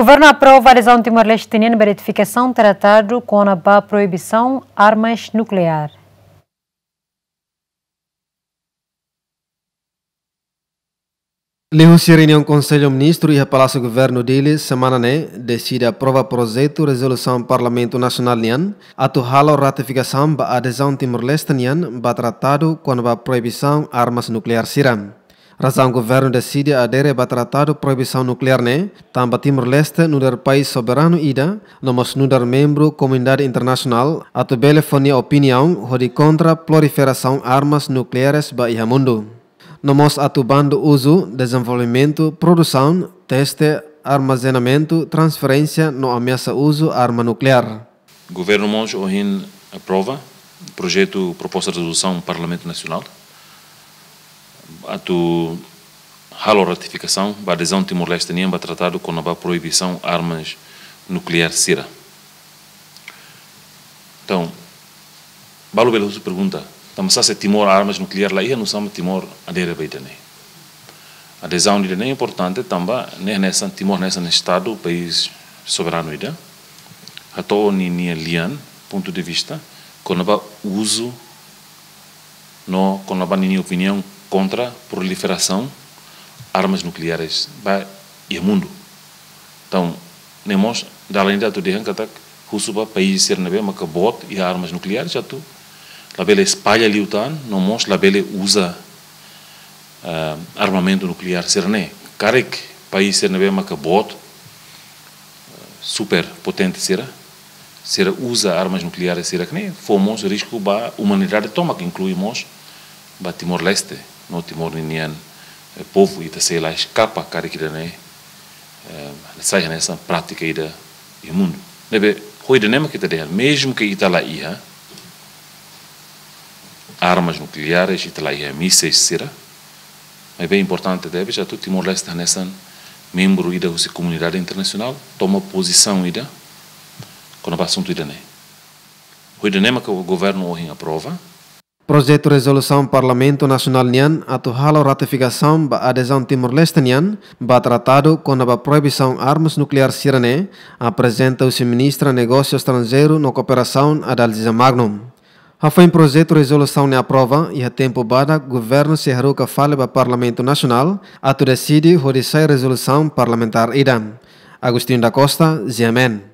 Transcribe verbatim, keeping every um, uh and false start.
Governu aprova adezaun Timor-Leste nian ba ratifikasaun tratadu kona-ba proibisaun armas nukleár. Liuhusi reuniaun Konsellu Ministru iha Palásiu Governu Dili semana ne'e, deside aprova projetu rezolusaun Parlamentu Nasionál nian atu halo ratifikasaun ba adezaun Timor-Leste nian ba tratadu kona-ba proibisaun armas nukleár sira. Razaun governu deside adere ba tratadu proibisaun nukleár ne'e, tanba Timor-Leste nu'udar país soberanu ida, no mós nu'udar membru komunidade internasionál, atu bele fó nia opiniaun hodi kontra proliferasaun armas nukleares ba iha mundu. No mós atu bandu uzu, dezenvolvimentu, produsaun, teste, armazenamentu, transferénsia no ameasa uzu arma nukleár. Governu mós ohin aprova projetu proposta rezolusaun Parlamentu Nasionál atu halo ratifikasaun ba adezaun Timor-Leste nian ba tratadu kona-ba proibisaun armas nukleár sira. Entaun, balu bele husu pergunta, tanba sá se Timor armas nukleár la iha, nusá mak Timor adere ba ida-ne'e? Adezaun ida-ne'e importante tanba ne'e hanesan Timor hanesan Estadu, país soberanu ida, hato'o ninia lian, pontu de vista, kona-ba uzu no kona-ba ninia opiniaun kontra proliferasaun armas nukleares ba iha mundu. Entaun, ne'e mós dalan ida atu dehan katak husu ba país sira ne'ebé maka boot iha armas nukleares atu labele espalla liután, no mós labele uza, eh, armamentu nukleár sira-ne'e. Karik país sira ne'ebé maka boot, eh, superpotente sira, sira uza armas nukleares sira-ne'e, fó mós risku ba umanidade tomak, inklui mós ba Timor-Leste, no Timor ninian, eh, povu, ita sei la eskapa karik ida-ne'e, eh, sai hanesan prátika ida iha mundu. Ne'ebé, ho ida-ne'e mak ita dehan, mezmu ke ita la iha armas nukleares, ita la iha míseis sira, maibé importante tebes atu Timor-Leste hanesan membru ida husi komunidade internasionál toma pozisaun ida kona-ba asuntu ida-ne'e. Ho ida-ne'e mak governu ohin aprova. Projetu rezolusaun Parlamentu Nasionál nian atu halo ratifikasaun ba adezaun Timor-Leste nian ba tratadu kona-ba proibisaun armas nukleár sira-ne'e aprezenta husi Ministra Negósiu Estranjeiru no Kooperasaun, Adalgisa Magno. Hafoin projetu rezolusaun ne'e aprova, iha tempu badak governu sei haruka fali ba Parlamentu Nasionál atu deside hodi sai rezolusaun parlamentár ida. Agostinho da Costa, G M N.